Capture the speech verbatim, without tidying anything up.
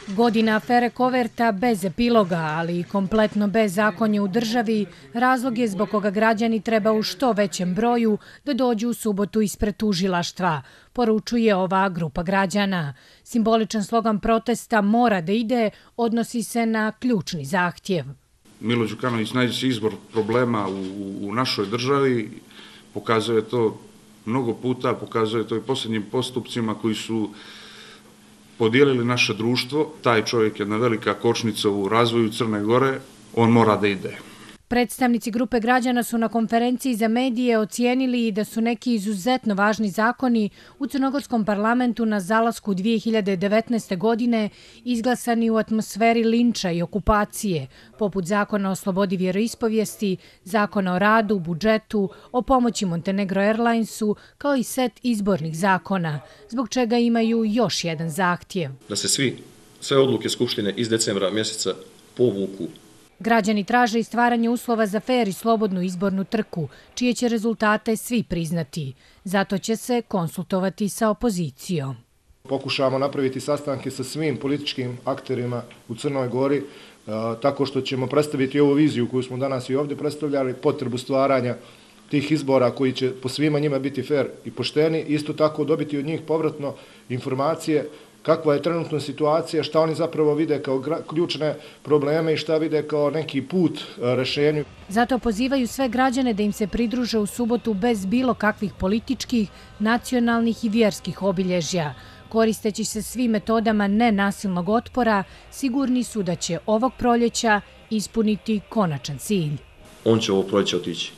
Godina afere Koverta bez epiloga, ali i kompletno bez zakonja u državi, razlog je zbog koga građani treba u što većem broju da dođu u subotu ispred tužilaštva, poručuje ova grupa građana. Simboličan slogan protesta "Mora da ide" odnosi se na ključni zahtjev. Milo Đukanović najveći izbor problema u, u našoj državi, pokazuje to mnogo puta, pokazuje to i posljednjim postupcima koji su podijelili naše društvo. Taj čovjek je jedna velika kočnica u razvoju Crne Gore, on mora da ide. Predstavnici grupe građana su na konferenciji za medije ocijenili da su neki izuzetno važni zakoni u crnogorskom parlamentu na zalasku dvije hiljade devetnaeste. godine izglasani u atmosferi linča i okupacije, poput zakona o slobodi vjeroispovijesti, zakona o radu, budžetu, o pomoći Montenegro Airlinesu, kao i set izbornih zakona, zbog čega imaju još jedan zahtjev. Da se svi, sve odluke Skupštine iz decembra mjeseca povuku. Građani traže i stvaranje uslova za fer i slobodnu izbornu trku, čije će rezultate svi priznati. Zato će se konsultovati sa opozicijom. Pokušavamo napraviti sastanke sa svim političkim akterima u Crnoj Gori, tako što ćemo predstaviti ovu viziju koju smo danas i ovdje predstavljali, potrebu stvaranja tih izbora koji će po svima njima biti fer i pošteni, isto tako dobiti od njih povratno informacije kakva je trenutna situacija, šta oni zapravo vide kao ključne probleme i šta vide kao neki put rešenju. Zato pozivaju sve građane da im se pridruže u subotu bez bilo kakvih političkih, nacionalnih i vjerskih obilježja. Koristeći se svim metodama nenasilnog otpora, sigurni su da će ovog proljeća ispuniti konačan cilj. On će ovo proljeće otići.